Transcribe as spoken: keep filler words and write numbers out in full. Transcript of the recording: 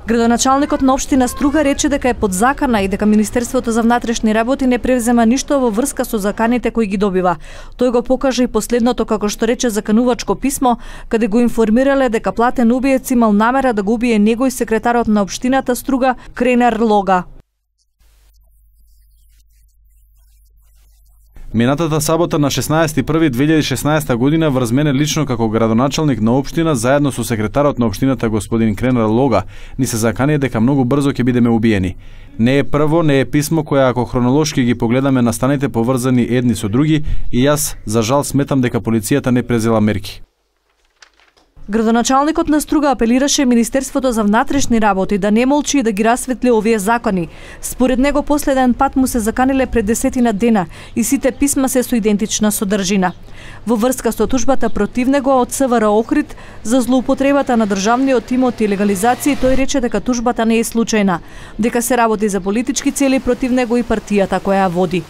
Градоначалникот на општина Струга рече дека е подзакана и дека Министерството за внатрешни работи не превзема ништо во врска со заканите кои ги добива. Тој го покажа и последното, како што рече, заканувачко писмо, каде го информирале дека платен убиец имал намера да го убие него и секретарот на општината Струга Кренар Лога. Минатата сабота на шеснаесети први две илјади и шеснаесета година врз мене лично како градоначалник на општина заедно со секретарот на општината господин Кренар Лога ни се закани дека многу брзо ќе бидеме убиени. Не е прво, не е писмо кое ако хронолошки ги погледаме настаните поврзани едни со други и јас за жал сметам дека полицијата не презела мерки. Градоначалникот на Струга апелираше Министерството за внатрешни работи да не молчи и да ги расветли овие закони. Според него последен пат му се заканиле пред десетина дена и сите писма се со идентична содржина. Во врска со тужбата против него од СВР Охрид за злоупотребата на државниот имот и легализација, тој рече дека тужбата не е случајна, дека се работи за политички цели против него и партијата која ја води.